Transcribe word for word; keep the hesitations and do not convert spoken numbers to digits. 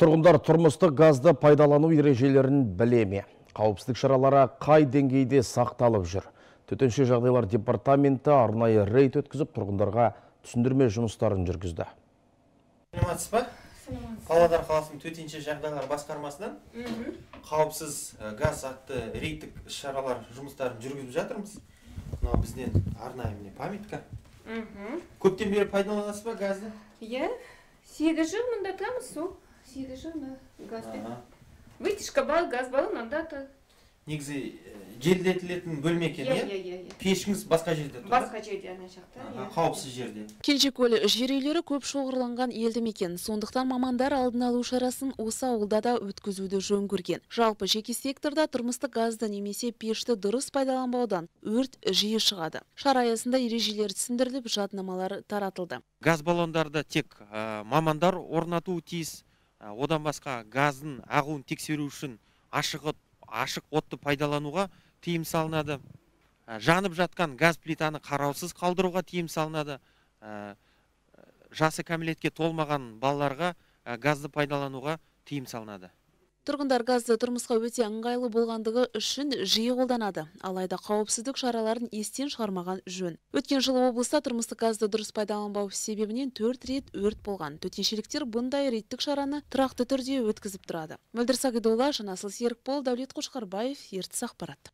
Тұрғындар тұрмыстық газды пайдалану ережелерін біле ме? Қауіпсіздік шаралары қай деңгейде сақталып жүр? Төтенше жағдайлар департаменті арнайы рейд өткізіп, тұрғындарға түсіндірме жұмыстарын жүргізді. Саламатсыз ба? Павлодар қаласының төтенше жағдайлар басқармасынан қауіпсіз газ атты рейдтік шаралар жұмыстарын жүргізіп жатырмыз. Мынау бізден арнайы міне памятка. Көптен бері пайдаланасыз ба газды? Иә, сегіз жыл мында тұрамыз су. сегіз жыл газбен. Вытяжка бар, газ бар, мында тұр. Негізі желдетілетін бөлме екен, иә? Пешіңіз басқа жерде тұр? Басқа жерде, ана жақта. Қауіпсіз жерде. Кенжекөл жер үйлері көп шоғырланған елді мекен. Сондықтан мамандар алдын алу шарасын осы ауылда да өткізуді жөн көрген. Жалпы жеке секторда тұрмыстық газды немесе пешті дұрыс пайдаланбаудан өрт жиі шығады. Шара аясында ережелер түсіндіріліп, жаднамалар таратылды. Газ баллондарды тек мамандар орнатуы тиіс. Одан басқа газдың ағуын тексеру үшін ашық ашық отты пайдалануға тыйым салынады. Жанып жатқан газ плитаны қараусыз қалдыруға тыйым салынады. Жасы кәмелетке толмаған балаларға газды пайдалануға тыйым салынады. Тұрғындар газды тұрмысқа өте ыңғайлы болғандығы үшін жиі қолданады. Алайда қауіпсіздік шараларын естен шығармаған жөн. Өткен жылы облыста тұрмыстық газды дұрыс пайдаланбау себебінен төрт рет өрт болған. Төтеншеліктер бұндай рейдтік шараны тұрақты түрде өткізіп тұрады. Мөлдір Сағидолла, Жанасыл Серікбол, Дәулет Қошқарбаев, Ертіс ақпарат.